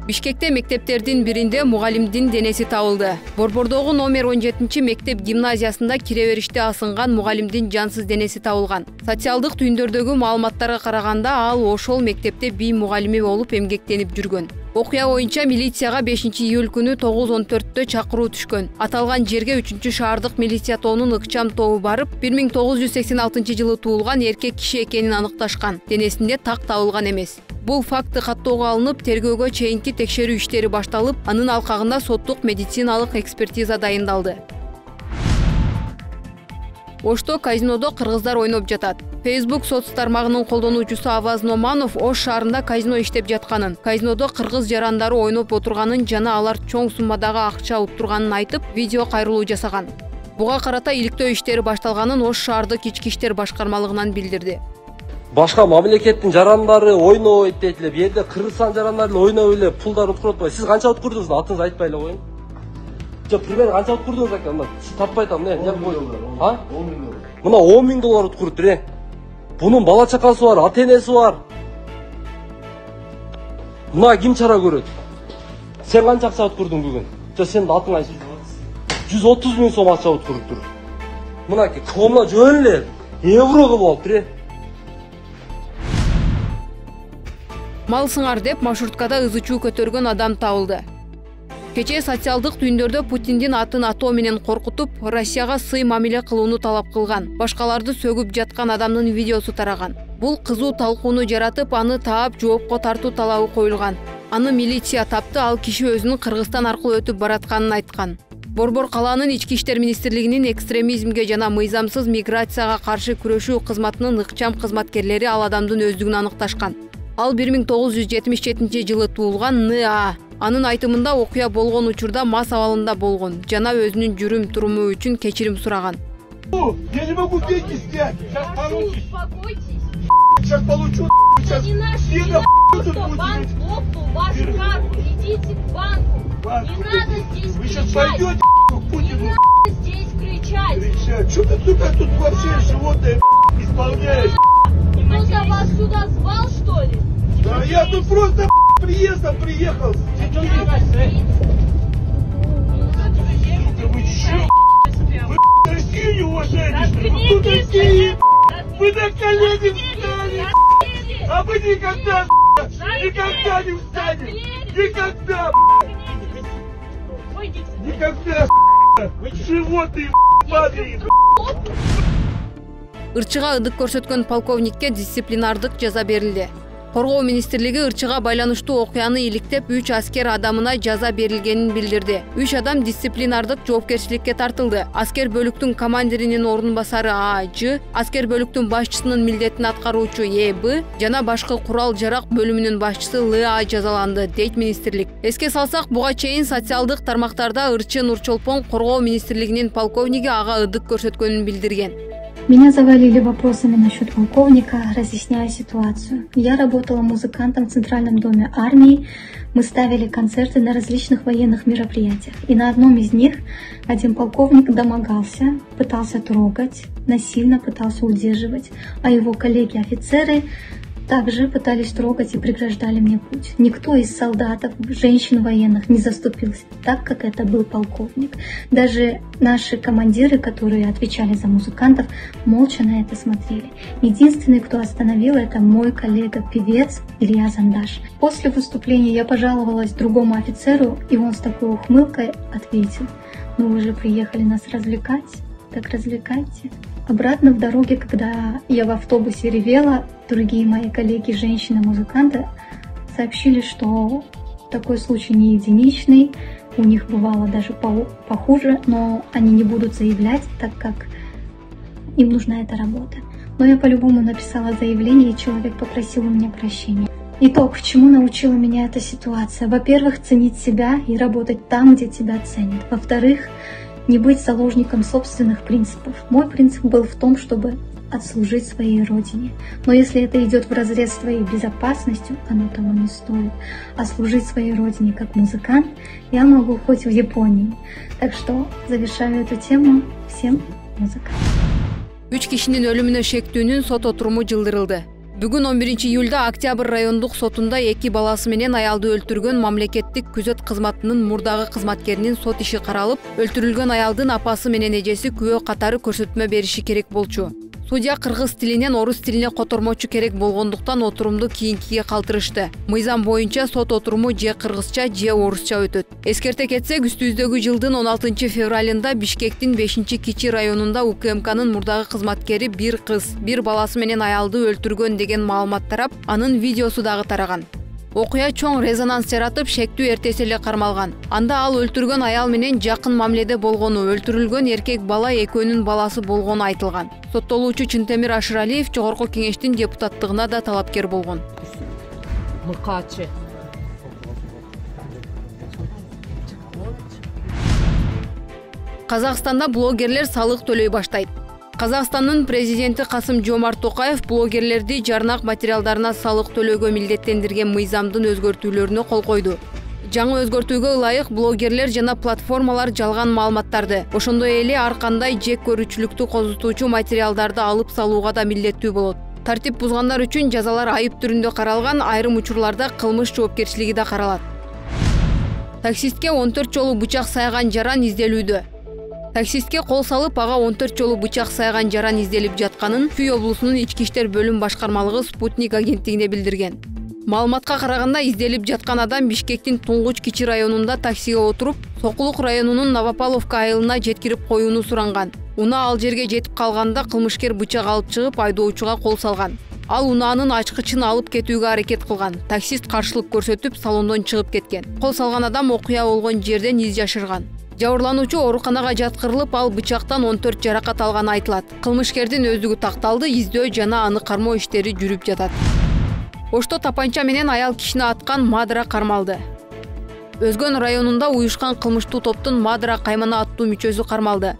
Бишкекте мектептердин биринде мугалимдин денеси табылды. Борбордогу номер 17 мектеп гимназиясында кире бериште асынган мугалимдин жансыз денеси табылган. Социалдык түйүндөрдөгү маалыматтарга караганда ал ошол мектепте бий мугалими болуп эмгектенип жүргөн. Окуя боюнча милицияга 5-июль күнү 9:14 чакыруу түшкөн. Аталган жерге 3-шаардык милиция тобунун ыкчам тобу барып, 1986-жылы туулган эркек киши экенин аныкташкан. Денесинде так табылган эмес. Бул факты каттоого алынып, тергөөгө чейинки текшерүү иштери башталып, анын алкагында соттук медициналык экспертиза дайындалды. Ошто казинодо кыргыздар ойноп жатат. Facebook соц тармагынын колдонуучусу Аваз Номанов Ош шаарында казино иштеп жатканын, казинодо кыргыз жарандары ойноп отурганын жана алар чоң суммадагы акча уттурганын айтып, видео кайрылуу жасаган. Буга карата иликтөө иштери башталганын Ош шаардык ички иштер башкармалыгынан билдирди. Башка мамлекеттин жарандары ойнойт дейт эле. Бу жерде Кыргызстан жарандары эле ойноп эле пулдар уткуруп атпайбы? Сиз канча уткурдуңуз? Атыңызды айтпай эле коюң. Жок, пример канча уткурдуңуз ака? Мына таппай атам, эмне коюң? А? 10 000 доллар. Мына 10 000 доллар уткуруптур, Бунун бала чакасы бар, ата-энеси бар. Мына ким чара көрөт? Сен канча акча уткурдуң бүгүн? Жок, сенин атың айсы 130 000 сом акча уткуруптур. Мына комна жөн эле евро кылып алыптыр, Мал сыңар деп маршруткада ызы-чуу көтөргөн адам табылды. Кечээ социалдык түйүндөрдө Путиндин атын атоо менен коркутуп, Россияга сый мамиле кылууну талап кылган, башкаларды сөгүп жаткан адамдын видеосу тараган. Бул кызуу талкууну жаратып, аны таап жоопко тартуу талабы коюлган. Аны милиция тапты, ал киши өзүнүн Кыргызстан аркылуу өтүп баратканын айткан. Борбор калаанын ички иштер министрлигинин экстремизмге жана мыйзамсыз миграцияга каршы күрөшүү кызматынын ыкчам кызматкерлери ал адамдын өздүгүн аныкташкан. Ал 1977-жылы туулган Н.А. Анын айтымында окуя болгон учурда мас абалында болгон жана өзүнүн жүрүм-туруму үчүн кечирим сураган. Я не могу деньги снять. Сейчас получишь. Сейчас получу. Сейчас банк лопнул вашу карту. Идите к банку. Не надо здесь Вы сейчас пойдете к Путину. Не надо здесь кричать. Что ты, сука, тут вообще животное исполняешь? Кто-то вас сюда звал, что ли? Да я тут просто приездом приехал. Вы че? Вы Россию не уважаете? Кто такие? Вы на колени встали! А вы никогда не встанете! Никогда! Никогда! Вы животные, падаете! Ырчыга ыдык көрсөткөн полковникке дисциплинардык жаза берилди. Коргоо министрлиги ырчыга байланыштуу окуяны иликтеп 3 аскер адамына жаза берилгенин билдирди. 3 адам дисциплинардык жоопкерчиликке тартылды. Аскер бөлүктүн командиринин орун басары А.Ж, аскер бөлүктүн башчысынын милдетин аткаруучу Е.Б жана башкы курал-жарак бөлүмүнүн башчысы Л.А. жазаланды, дейт министрлик. Эске салсак, буга чейин социалдык тармактарда ырчы Нурчолпон коргоо министрлигинин полковниги ага ыдык көрсөткөнүн билдирген. Меня завалили вопросами насчет полковника, разъясняя ситуацию. Я работала музыкантом в Центральном доме армии. Мы ставили концерты на различных военных мероприятиях. И на одном из них один полковник домогался, пытался трогать, насильно пытался удерживать, а его коллеги-офицеры также пытались трогать и преграждали мне путь. Никто из солдатов, женщин военных не заступился так, как это был полковник. Даже наши командиры, которые отвечали за музыкантов, молча на это смотрели. Единственный, кто остановил, это мой коллега-певец Илья Зандаш. После выступления я пожаловалась другому офицеру, и он с такой ухмылкой ответил: «Ну вы же приехали нас развлекать, так развлекайте». Обратно в дороге, когда я в автобусе ревела, другие мои коллеги, женщины-музыканты, сообщили, что такой случай не единичный, у них бывало даже похуже, но они не будут заявлять, так как им нужна эта работа. Но я по-любому написала заявление, и человек попросил у меня прощения. Итог, чему научила меня эта ситуация? Во-первых, ценить себя и работать там, где тебя ценят. Во-вторых, не быть заложником собственных принципов. Мой принцип был в том, чтобы отслужить своей родине. Но если это идет вразрез с твоей безопасностью, оно того не стоит. А служить своей родине как музыкант я могу хоть в Японии. Так что завершаю эту тему. Всем музыка. 3 кишинин өлүмүнө шектүүнүн сот отуруму жылдырылды. Бүгүн 11 июлда Октябрь райондук сотунда 2 баласы менен аялды өлтүргөн мамлекеттик күзөт кызматынын мурдагы кызматкеринин сот иши каралып, өлтүрүлгөн аялдын апасы менен эжеси күбө катары көрсөтмө бериши керек болчу. Судья кыргыз тилинен орус тилине котормочу керек болгондуктан отурумду кийинкиге калтырышты. Мыйзам боюнча сот отуруму же кыргызча, же орусча өтөт. Эскерте кетсек, үстүбүздөгү жылдын 16 февралында Бишкектин 5-Кичи районунда УКМКнын мурдагы кызматкери бир кыз, бир баласы менен аялды өлтүргөн деген маалымат тарап, анын видеосу дагы тараган. Окуя чоң резонанс жаратып, шектүү эртеси эле кармалган. Анда ал өлтүргөн аял менен жакын мамиледе болгону, өлтүрүлгөн эркек бала экөөнүн баласы болгону айтылган. Соттолуучу Чынтемир Ашыралиев Жогорку Кеңештин депутаттыгына да талапкер болгон. Мыкачы. Казакстанда блогерлер салык төлөй баштайт. Казакстандын президенти Касым-Жомарт Токаев блогерлерди жарнак материалдарына салык төлөөгө милдеттендирген мыйзамдын өзгөртүүлөрүнө кол койду. Жаңы өзгөртүүгө ылайык блогерлер жана платформалар жалган маалыматтарды, ошондой эле ар кандай жек көрүүчүлүктү козутуучу материалдарды алып салууга да милдеттүү болот. Тартип бузгандар үчүн жазалар айып түрүндө каралган, айрым учурларда кылмыш жоопкерчилиги да каралат. Таксистке 14 жолу бычак сайган жаран изделүүдө. Таксистке кол салып, ага 14 жолу бычак сайган жаран изделип жатканын Фүй облусунун ички иштер бөлүм башкармалыгы Спутник агенттигине билдирген. Маалыматка караганда, изделип жаткан адам Бишкектин Туңгуч Кичи районунда таксиге отуруп, Сокулук районунун Новополовка айылына жеткирип коюуну суранган. Унаа ал жерге жетип калганда кылмышкер бычак алып чыгып, айдоочуга кол салган. Ал унаанын ачкычын алып кетүүгө аракет кылган. Таксист каршылык көрсөтүп, салондон чыгып кеткен. Кол салган адам окуя болгон жерден из жашырган. Жабырлануучу ооруканага жаткырылып, ал бычактан 14 жаракат алганы айтылат. Кылмышкердин өздүгү такталды, издөө жана аны кармоо иштери жүрүп жатат. Ошто тапанча менен аял кишини аткан Мадыра кармалды. Өзгөн районунда уюшкан кылмыштуу топтун Мадыра каймана аттуу мүчөсү кармалды.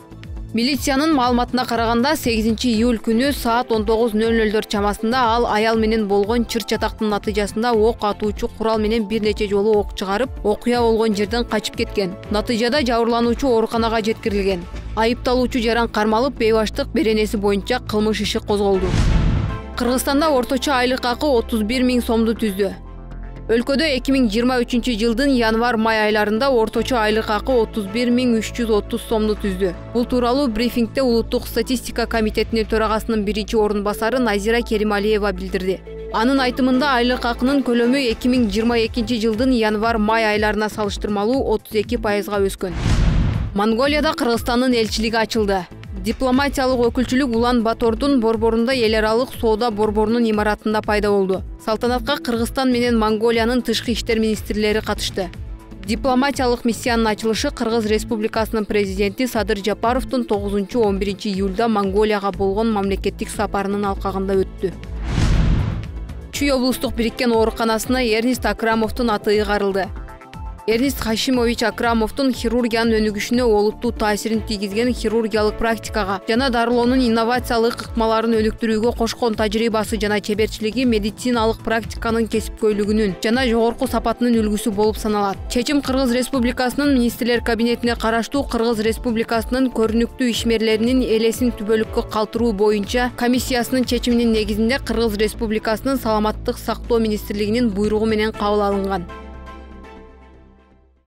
Милициянын маалыматына караганда 8 июль күнү саат 19:00 чамасында ал аял менен болгон чыр-чатактын натыйжасында ок атуучу курал менен бир нече жолу ок чыгарып, окуя болгон жерден качып кеткен. Натыйжада жабырлануучу ооруканага жеткирилген. Айыпталуучу жаран кармалып, бейбаштык беренеси боюнча кылмыш иши козголду. Кыргызстанда орточо айлык акы 31 000 сомду түздү. Өлкөдө 2023 жылдын январь-май айларында орточо айлык акы 31 330 сомду түздү. Бул тууралуу брифингде Улуттук статистика комитетинин төрагасынын биринчи орун басары Назира Керималиева билдирди. Анын айтымында айлык акынын көлөмү 2022 жылдын январь-май айларына салыштырмалуу 32%га өскөн. Монголияда Кыргызстандын элчилиги ачылды. Дипломатиялык өкүлчүлүк Улан-Батордун борборунда эл аралык соода борборунун имаратында пайда болду. Салтанатка Кыргызстан менен Монголиянын тышкы иштер министрлери катышты. Дипломатиялык миссиянын ачылышы Кыргыз Республикасынын президенти Садыр Жапаровдун 9-11 июлда Монголияга болгон мамлекеттик сапарынын алкагында өттү. Чүй облустук бириккен ооруканасына Эрнест Акрамовдун аты ыйгарылды. Эрнест Хашимович Акрамовдун хирургиянын өнүгүшүнө олуттуу таасирин тийгизген хирургиялык практикага жана дарылоонун инновациялык ыкмаларын өнүктүрүүгө кошкон тажрыйбасы жана чеберчилиги медициналык практиканын кесипкөйлүгүнүн жана жогорку сапатынын үлгүсү болуп саналат. Чечим Кыргыз Республикасынын министрлер кабинетине караштуу Кыргыз Республикасынын көрүнүктүү ишмерлеринин элесин түбөлүккө калтыруу боюнча комиссиясынын чечиминин негизинде Кыргыз Республикасынын Саламаттык сактоо министрлигинин буйругу менен кабыл алынган.